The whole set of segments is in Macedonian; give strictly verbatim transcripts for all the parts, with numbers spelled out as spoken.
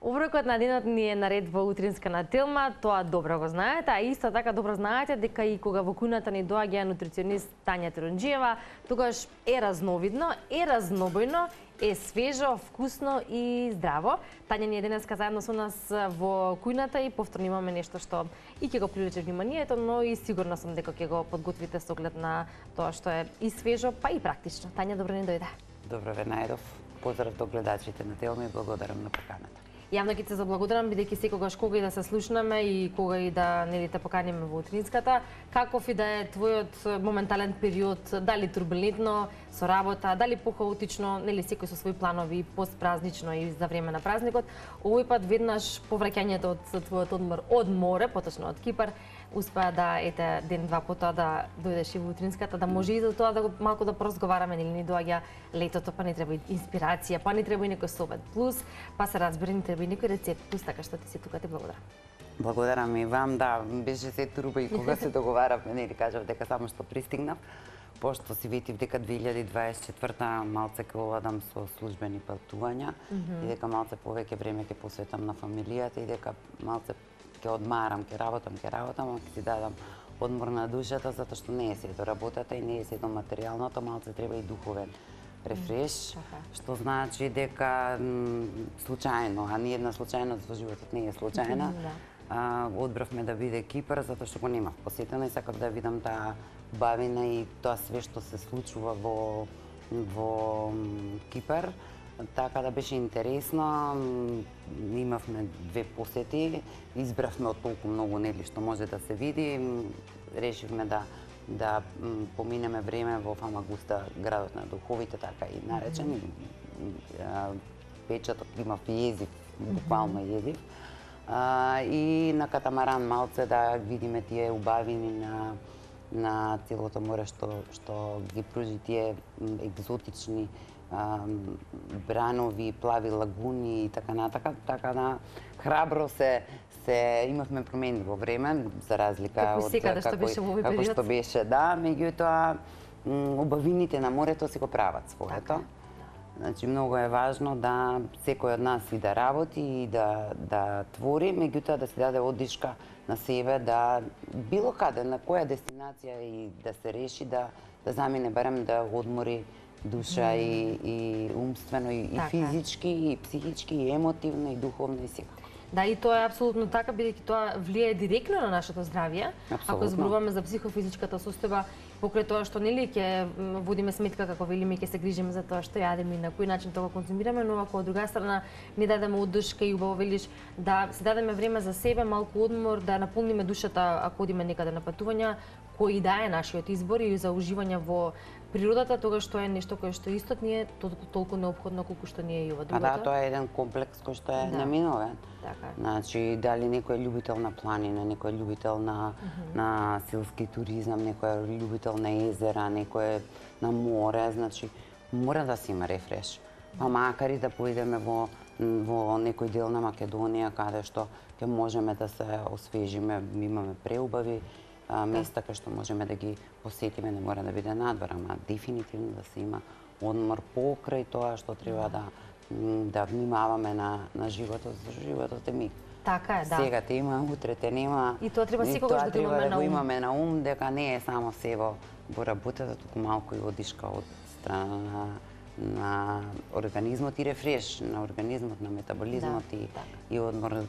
Оброкот на денот ни е наред во утринска на Телма, тоа добро го знаете, а исто така добро знаете дека и кога во кујната ни доаѓа нутриционист Тања Тирунџиева, тогаш е разновидно, е разнобојно, е свежо, вкусно и здраво. Тања ни е денеска заедно со нас во кујната и повторно имаме нешто што и ќе го привлече вниманието, но и сигурна сум дека ќе го подготвите со оглед на тоа што е и свежо, па и практично. Тања, добро ни дојде. Добро ве најдов. Поздрав до гледачите на Телма и благодарам на поканата. Јавно ќе се заблагодарам, бидејќи секогаш кога и да се слушнаме и кога и да нели те поканиме во утринската, каков и да е твојот моментален период, дали турбулентно со работа, дали похаотично, нели секој со своји планови, постпразнично и за време на празникот, овој пат веднаш по враќањето од твојот одмор од море, поточно од Кипар, успеа да ете ден-два потоа да дојдеш и во утринската, да може и за тоа да го малку да поразговараме, нели ни доаѓа летото, па ни треба и инспирација, па ни треба и некој совет плюс, па се разбира ни треба и некој рецепт плюс, така што ти си тука, ти благодарам. Благодарам и вам, да, беше се турба и кога се договаравме, нели кажав дека само што пристигнав, пошто си ветив дека две илјади дваесет и четврта малце ќе одам со службени патувања mm -hmm. и дека малце повеќе време ќе посветам на фамилијата и дека малце ќе одмарам, ќе работам, ќе работам, а ќе си дадам одмор на душата, затоа што не е се до работата и не е се до материјалното, малце треба и духовен рефреш, mm, што значи дека случајно, а ни една случајност во животот не е случајна. Mm, да. а, одбравме да биде Кипар, затоа што го немав посетено и сакав да видам таа бавина и тоа све што се случува во, во Кипар. Така да беше интересно, имавме две посети, избравме од толку многу нели што може да се види, решивме да да поминеме време во Фамагуста, градот на духовите, така и наречен. Mm -hmm. Печатот има језив, буквално језив. А, и на катамаран малце да видиме тие убавини на на целото море што што ги пружи тие екзотични а, бранови, плави лагуни и така натака, така да храбро се се имавме промени во време за разлика како од секаде што беше во овој како период. Што беше, да, меѓутоа убавините на морето си го прават своето. Така. Значи многу е важно да секој од нас и да работи и да да твори, меѓутоа да се даде одишка на себе, да било каде, на која дестинација и да се реши да да замине барем да одмори душа mm. и и умствено и, и физички и психички и емотивно и духовно и секако. Да, и тоа е апсолутно така, бидејќи тоа влијае директно на нашето здравје. Апсолутно. Ако зборуваме за психофизичката состојба, покрај тоа што нели ќе водиме сметка, како велиме, ќе се грижиме за тоа што јадеме и на кој начин тоа го конзумираме, но ако од друга страна ни дадеме одушка и убаво велиш да се дадеме време за себе, малку одмор, да наполниме душата ако одиме некаде на патувања, кој да е нашиот избор и за уживање во природата, тогаш тоа е нешто кое што истот ни е толку, толку неопходно колку што ни е и ова другото. А да, тоа е еден комплекс кој што е да. неминовен. Така. Значи, дали некој е љубител на планина, некој е љубител на, mm -hmm. на селски туризам, некој е љубител на езера, некој е на море, значи, мора да се има рефреш. Па макар и да поидеме во, во некој дел на Македонија, каде што ќе можеме да се освежиме, имаме преубави а, места кај што можеме да ги посетиме, не мора да биде надвор, ама дефинитивно да се има одмор покрај тоа што треба да да внимаваме на на животот, за животот е миг. Така е, да. Сега те има, утре те нема. И тоа треба секогаш да го имаме на ум. Да го имаме на ум, дека не е само се во во работата, туку малку и одишка од страна на на организмот и рефреш на организмот, на метаболизмот да, и так. и одмор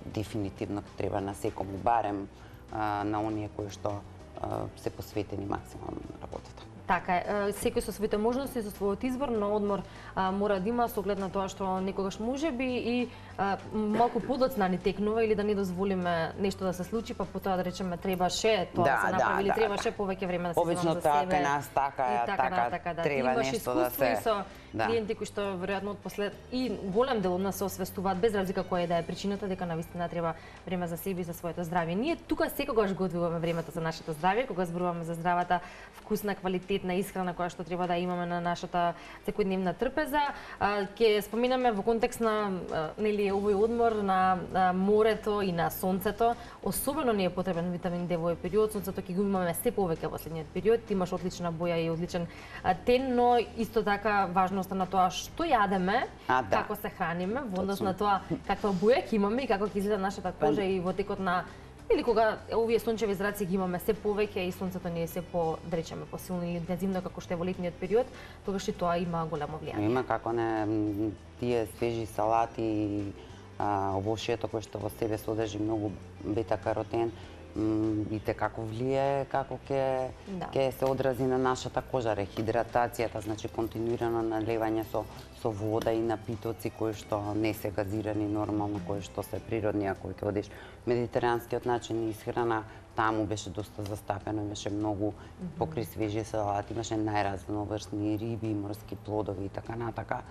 дефинитивно треба на секому, барем а, на оние кои што а, се посветени максимално на работата. Така е, секој со своите можности, со својот избор, но одмор а, мора да има со оглед на тоа што некогаш можеби и а, малку подоцна ни текнува или да не дозволиме нешто да се случи, па потоа да речеме требаше тоа да, се направи или да, требаше да. повеќе време да се земам за себе. Обично така кај нас така е, така, така, така да. треба нешто да се... И со да. клиенти кои што веројатно од послед и голем дел од нас се освестуваат без разлика која да е причината, дека навистина треба време за себе и за своето здравје. Ние тука секогаш го одвиваме времето за нашето здравје, кога зборуваме за здравата, вкусна, квалитетна квалитетна исхрана која што треба да имаме на нашата секојдневна трпеза. Ќе споминаме во контекст на нели овој одмор на морето и на сонцето. Особено ни е потребен витамин Д во овој период. Сонцето ќе го имаме се повеќе во следниот период. Ти имаш одлична боја и одличен тен, но исто така важноста на тоа што јадеме, А, да. како се храниме, во однос на тоа каква боја ќе имаме и како ќе изгледа нашата кожа и во текот на или кога овие сончеви зраци ги имаме се повеќе и сонцето ни е се по, да речеме, посилно или интензивно како што е во летниот период, тогаш и тоа има големо влијание. Има како не тие свежи салати и овошјето кое што во себе содржи многу бета-каротен, и те како влијае, како ќе Да. ќе се одрази на нашата кожа, рехидратацијата, значи континуирано наливање со со вода и напитоци кои што не се газирани нормално, кои што се природни, ако ќе одиш медитеранскиот начин исхрана, таму беше доста застапено, имаше многу покри свежи салати, имаше најразноврсни риби, морски плодови и така натака.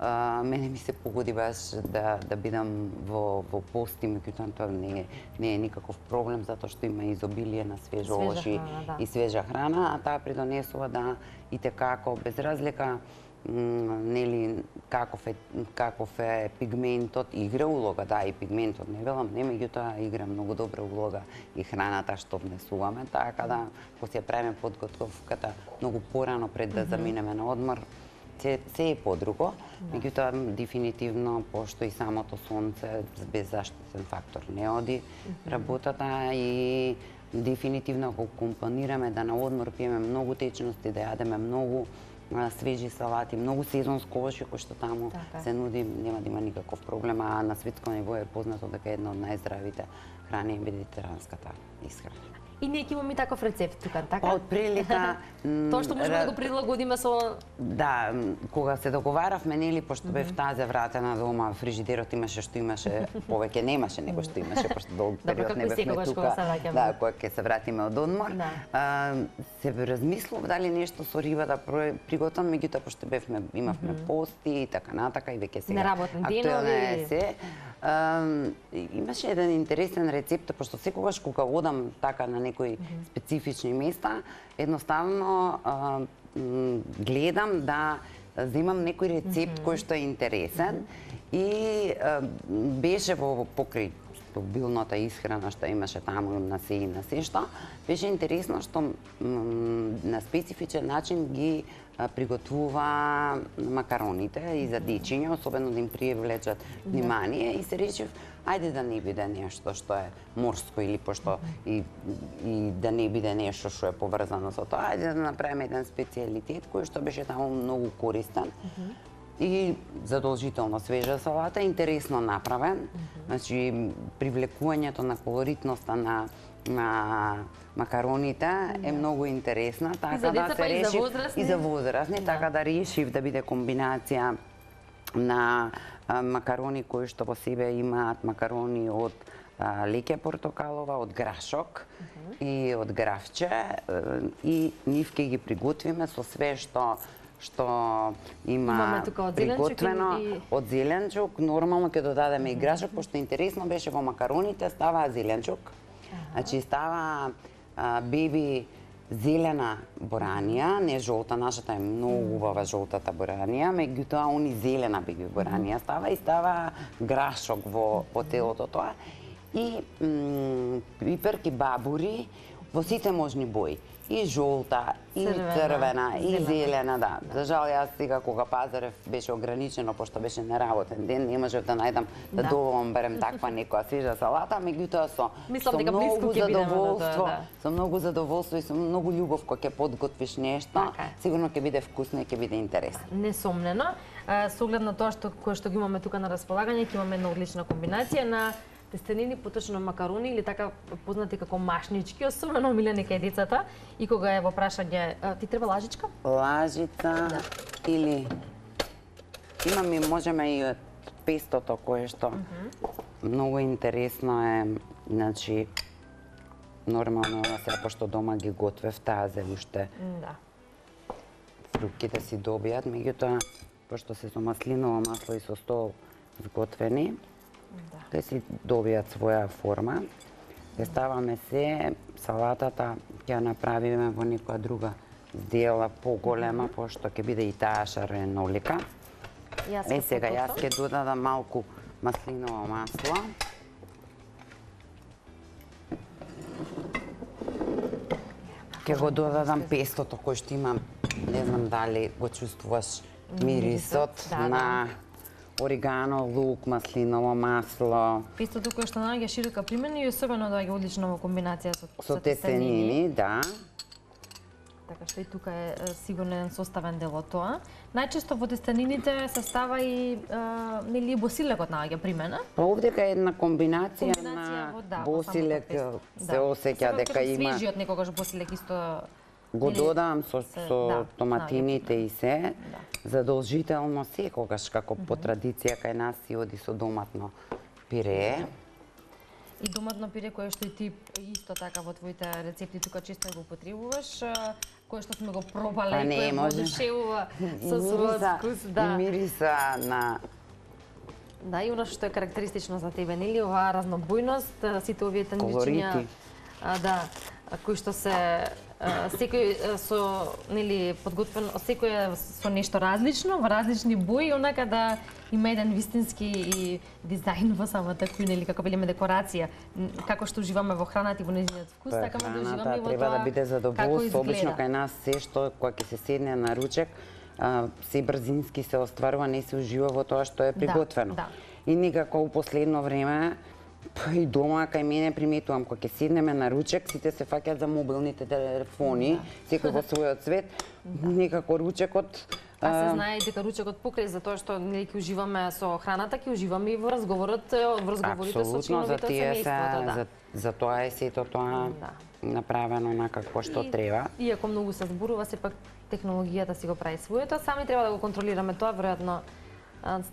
Uh, мене ми се погоди баш да да бидам во во пост, и меѓутоа тоа не е не е никаков проблем затоа што има изобилие на свежо овошје да. и свежа храна, а таа придонесува да и те како без разлика нели каков е каков е пигментот, игра улога, да, и пигментот не велам, не, меѓутоа игра многу добра улога и храната што внесуваме, така да кога се правиме подготовката многу порано пред да заминеме на одмор, се, се е подруго, да. Меѓутоа дефинитивно, пошто и самото сонце без заштитен фактор не оди mm -hmm. работата, и дефинитивно ако компонираме да на одмор пиеме многу течности, да јадеме многу а, свежи салати, многу сезонско овошје кој што таму така се нуди, нема да има никаков проблем, а на светско ниво е познато дека е една од најздравите храни е медитеранската исхрана. И ние ќе имаме таков рецепт тука, така? Па, од прилика... Тоа што можеме да го прилагодиме со... Да, кога се договаравме, нели, пошто бев тазе вратена дома, фрижидерот имаше што имаше, повеќе немаше него што имаше, пошто долг период не бевме тука. Да, кога ќе се вратиме од одмор. Се размислов дали нешто со риба да приготвам, меѓутоа пошто бевме, имавме пости и така натака, и веќе сега неработни денови. Се. Uh, имаше еден интересен рецепт, пошто секогаш кога одам така на некои специфични места, едноставно uh, гледам да земам некој рецепт mm -hmm. кој што е интересен mm -hmm. и uh, беше во покри билната исхрана што имаше таму на се и на се што, беше интересно што на специфичен начин ги приготвува макароните и за дечиња, особено да им привлечат внимание, и се речев, ајде да не биде нешто што е морско или пошто и, и да не биде нешто што е поврзано со тоа, ајде да направиме еден специјалитет кој што беше таму многу користен. И задолжително свежа салата, интересно направен, mm -hmm. значи привлекувањето на колоритноста на на макароните mm -hmm. е многу интересна, така и за да се реши и за возрастни, и за возрастни да. Така да решив да биде комбинација на а, макарони кои што во себе имаат макарони од а, леќе портокалова, од грашок mm -hmm. и од гравче, и нив ќе ги приготвиме со све што што има приготвено и... од зеленчук, нормално ќе додадеме и грашок, пошто интересно беше во макароните ставаа зеленчук. Значи става а, беби зелена боранија, не жолта, нашата е многу убава жолтата боранија, меѓутоа они зелена беби боранија става и става грашок во во телото тоа. И пиперки, бабури во сите можни бои. И жолта, и црвена, црвена и зелена, зелена да. да. За жал, јас сега кога пазарев беше ограничено, пошто беше неработен ден, не можев да најдам да, да добавам барем таква некоја свежа салата, меѓутоа со, со многу задоволство, да, да. со многу задоволство и со многу љубов кога ќе подготвиш нешто, така, сигурно ќе биде вкусно и ќе биде интересно. Несомнено. Со оглед на тоа што кое што ги имаме тука на располагање, ќе имаме една одлична комбинација на тестенини, поточно макарони или така познати како машнички, особено омилени кај децата. И кога е во прашање, ти треба лажичка? Лажица, да. Или имаме, можеме и од пестото кое што uh -huh. многу интересно е, значи нормално сега пошто дома ги готвев тазе уште. Да. Фруктите си добијат, меѓутоа пошто се со маслиново масло и со стол зготвени, да, те си добијат своја форма. Ќе ставаме се, салатата ќе ја направиме во некоја друга дела поголема, пошто ќе биде и таа шаренолика. Е, сега јас ќе додадам малку маслиново масло. Ќе го додадам пестото кој што имам, не знам дали го чувствуваш мирисот на оригано, лук, маслиново масло. Пестото кое што наоѓа широка примена и особено доаѓа одлично во комбинација со, со тестенини, да. Така што и тука е сигурно составен дел од тоа. Најчесто во тестенините се става и а, нели босилегот наоѓа примена. Па овдека е една комбинација, комбинација на во, да, босилек, се да. осеќа дека има. Свежиот некогаш босилек исто Го додавам со, се, со да, томатините и се. Да. Задолжително секогаш, како по традиција кај нас си оди со доматно пире. И доматно пире кое што и ти исто така во твоите рецепти тука често го употребуваш, кое што сме го пробале па и кое го одушевува со својот вкус, да. И мириса на Да, и она што е карактеристично за тебе, нели, оваа разнобојност, сите овие тандвичиња, да, кои што се секој со нели подготвен, секој е со нешто различно, во различни бои, онака да има еден вистински и дизајн во самата кујна или како велиме декорација, како што уживаме во храната и во нејзиниот вкус, така да уживаме и во треба тоа да биде задоволство. Обично кај нас се што кога ќе се седне на ручек, се брзински се остварува, не се ужива во тоа што е приготвено. Да, да. И никако у последно време па и дома кај мене приметувам кога ќе седнеме на ручек, сите се фаќаат за мобилните телефони, да. Секој во својот свет, да. Никако ручекот. А се знае и дека ручекот покрај затоа што нели ќе уживаме со храната, ќе уживаме и во разговорот, во разговорите со членовите од семејството, да. За, за тоа е сето тоа да. Направено на какво што и, треба. Иако многу се зборува, сепак технологијата си го прави своето, сами треба да го контролираме тоа, веројатно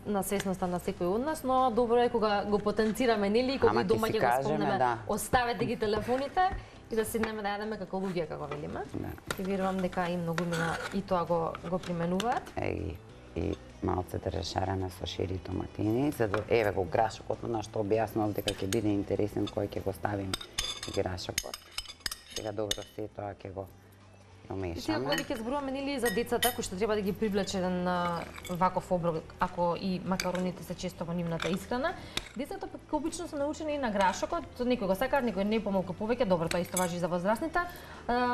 на свесноста на секој од нас, но добро е кога го потенцираме, нели, и кога дома ќе го спомнеме, да. Оставете ги телефоните и да седнеме да јадеме како луѓе, како велиме. Да. И верувам дека и многумина и тоа го го применуваат. Е, и малце терешарена со шири томатини, за да еве го грашокот, на што објаснував дека ќе биде интересен кој ќе го ставим грашокот. Сега добро се тоа ќе го И сега кога ќе зборуваме нели за децата кои што треба да ги привлече еден ваков оброк, ако и макароните се често во нивната исхрана, децата пак обично се научени и на грашокот, некој го сакаат, некој не помалку повеќе, добро тоа исто важи за возрастните,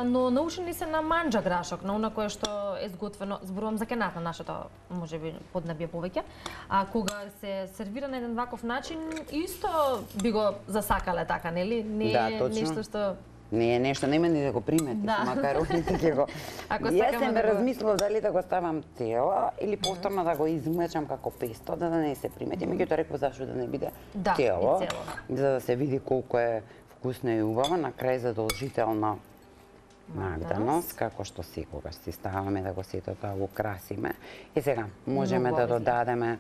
но научени се на манџа грашок, на она кое што е сготвено, зборувам за кената нашата, можеби поднебје повеќе, а кога се сервира на еден ваков начин, исто би го засакале така, нели? Не е да, нешто што не е нешто, нема ни да го приметиш, да. Макароните ќе го. Јас се да размислував дали да го ставам цело или повторно да го измечам како песто, да, да не се примети. Меѓутоа реков зашто да не биде да, цело, за да се види колку е вкусно и убаво, на крај задолжително магданост, како што секогаш си ставаме да го сето тоа го красиме. И сега можеме да додадеме,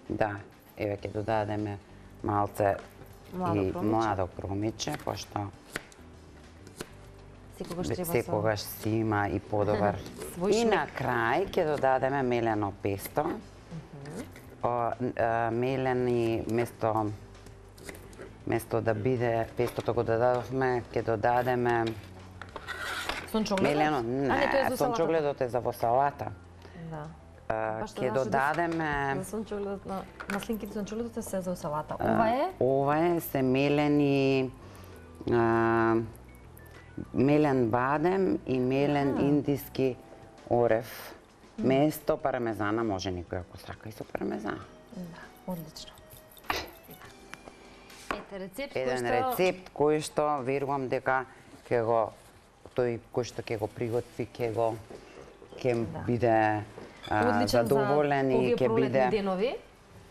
да, еве ќе додадеме малце и младо промиче, пошто секогаш треба секогаш си има и подобар. И на крај ќе додадеме мелено песто. Uh -huh. О, мелени место место да биде пестото го додадовме, ќе додадеме сончогледот. Мелено, не, сончогледот е за во салата. Да. Ќе додадеме за сончогледот на маслинките, сончогледот се за салата. Ова е? Ова е се мелени а, мелен бадем и мелен а. индиски орев. Mm. Место пармезана, може некој ако сака и со пармезан. Да, одлично. Ете рецепт Еден кој што... рецепт кој што верувам дека ќе го тој кој што ќе го приготви ќе го ќе да. биде а, задоволен и ќе биде денови.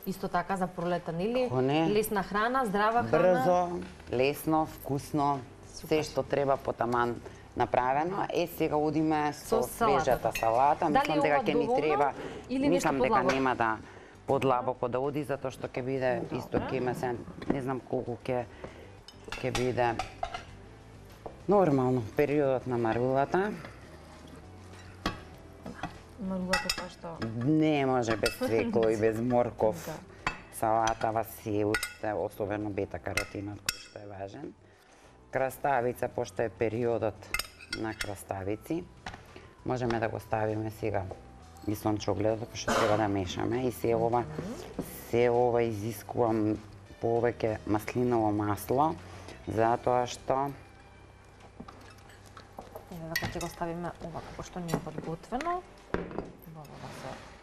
Исто така за пролета, нели? Лесна храна, здрава храна. Брзо, лесно, вкусно. Се што треба потаман направено. Е, сега одиме со свежата салата. Мислам дека ќе ни треба, мислам дека нема да подлабоко да оди, затоа што ќе биде исто ќе има се, не знам колку ќе ќе биде нормално периодот на марулата. Марулата тоа што не може без цвекло и без морков. Салатава си уште, особено бета-каротинот кој што е важен. Краставица, пошто е периодот на краставици. можеме да го ставиме сега и сончогледото, што треба да мешаме, и се ова се ова изискува повеќе маслиново масло, затоа што Еве вака ќе го ставиме ова како што ни е подготвено.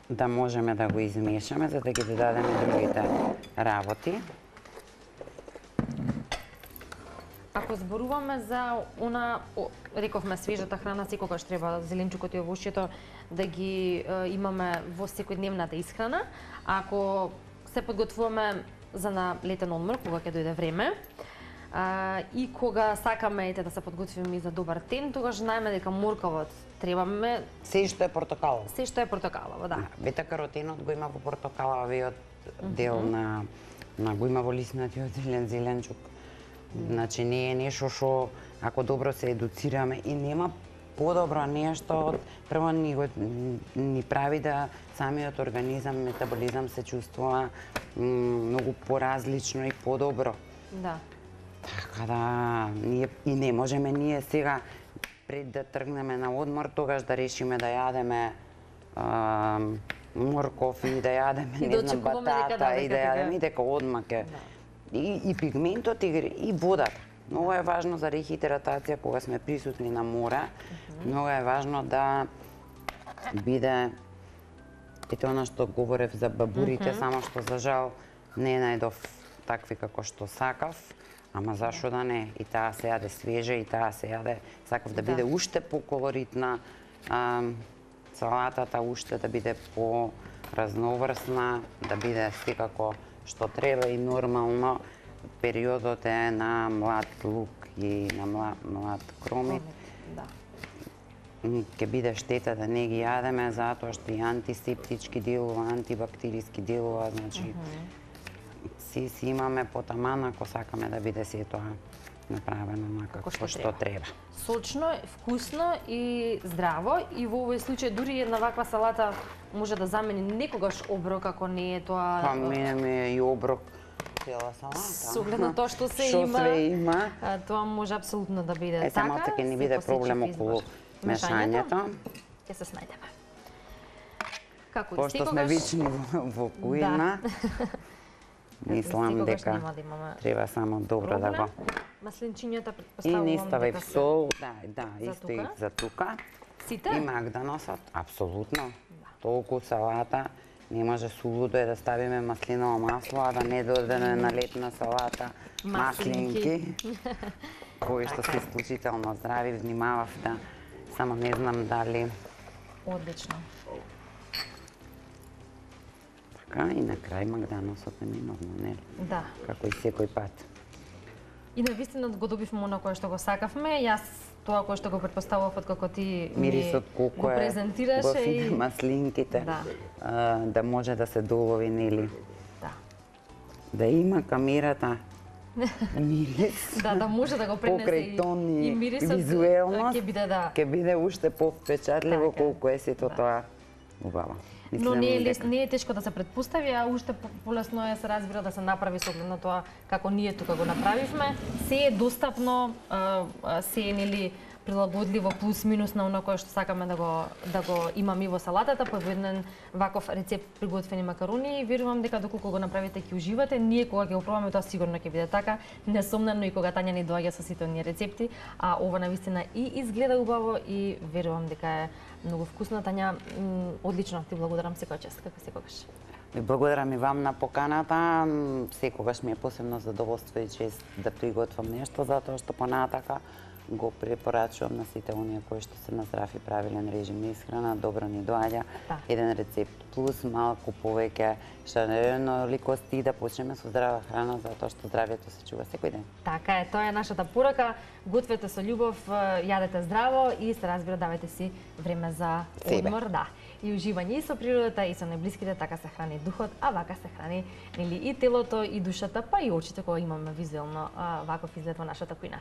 Да можеме да го измешаме за да ги додадеме другите работи. Ако зборуваме за она, рековме, свежата храна, секогаш треба зеленчукот и овошјето да ги е, имаме во секојдневната исхрана. А ако се подготвуваме за на летен одмор, кога ќе дојде време, а, и кога сакаме ете да се подготвиме и за добар тен, тогаш знаеме дека морковот требаме Се што е портокалово. се што е портокалово, да. Бета-каротенот го има во портокаловиот дел на на го има во лиснатиот зелен зеленчук. Значи не е нешто што ако добро се едуцираме и нема подобро нешто од прво ни го ни прави да самиот организам, метаболизам се чувствува многу поразлично и подобро. Да. Така да ние и не можеме ние сега пред да тргнеме на одмор тогаш да решиме да јадеме а, морков и да јадеме И не да знам очекуваме дека батата да, и дека да така. јадеме и дека одма ке и, и пигментот и, и водата. Многу е важно за рехидратација кога сме присутни на море. Многу е важно да биде ете она што говорев за бабурите, само што за жал не најдов такви како што сакав. Ама зашо да не? И таа се јаде свежа, и таа се јаде. Сакав да биде Да. уште поколоритна а, салатата, уште да биде по-разноврсна, да биде секако што треба и нормално. Периодот е на млад лук и на млад, млад кромит. Да. Ќе биде штета да не ги јадеме, затоа што и антисептички делува, антибактериски делува, значи си си имаме потаман ако сакаме да биде се тоа направено како што, што треба. Сочно, вкусно и здраво, и во овој случај дури една ваква салата може да замени некогаш оброк ако не е тоа. Па мене ми е и оброк цела салата. Со оглед на тоа што се Што има, све има. а, тоа може апсолутно да биде Е, само така. ќе ни се биде посечи проблем во околу избор. мешањето. Ќе се снајдеме. Како и Пошто сме секогаш, вични во, во кујна, мислам секогаш дека нема да имаме треба само добро да го... Маслинчињата И претпоставувам не ставај дека се сол, да, да, За исто и тука? за тука. сите. И магданосот, апсолутно. Толку салата, не може сулудо е да ставиме маслиново масло, а да не додадеме на летна салата маслинки, кои што се исклучително здрави, внимавав да, само не знам дали... Одлично. Така, и на крај магданосот е минорно, нели? Да. Како и секој пат. И навистина го добивме оно кое што го сакавме. Јас тоа кое што го претпоставував од како ти ми Мирисот колку го е презентираше готин, и маслинките, Да. а, да може да се долови, нели? да. Да има камерата мирис. Да, да може да го пренесе Покрај и, тон и и мирисот визуелност, ќе биде да. ќе биде уште повпечатливо Така е. колку е сето Да. тоа убаво. Но Мислам не е дека- лес, не е тешко да се претпостави, а уште по- полесно е се разбира да се направи со оглед на тоа како ние тука го направивме. Се е достапно, а, а, се е нели прилагодливо плюс минус на оно кое што сакаме да го да го имаме и во салатата, по еден ваков рецепт приготвени макарони и верувам дека доколку го направите ќе уживате. Ние кога ќе го пробаме тоа сигурно ќе биде така, несомнено и кога Тања ни доаѓа со сите оние рецепти, а ова навистина и изгледа убаво и верувам дека е многу вкусно. Тања, м, одлично, ти благодарам секоја чест, како секогаш. Ви благодарам и вам на поканата. М, Секогаш ми е посебно задоволство и чест да приготвам нешто, затоа што понатака го препорачувам на сите оние кои што се на здрав и правилен режим на исхрана, добро ни доаѓа. Да. Еден рецепт плюс малку повеќе шареноликости да почнеме со здрава храна, затоа што здравието се чува секој ден. Така е, тоа е нашата порака. Гответе со љубов, јадете здраво и се разбира давајте си време за Себе. одмор, да. И уживање и со природата и со најблиските, така се храни духот, а вака се храни нели и телото и душата, па и очите кога имаме визуелно а, ваков изглед во нашата кујна.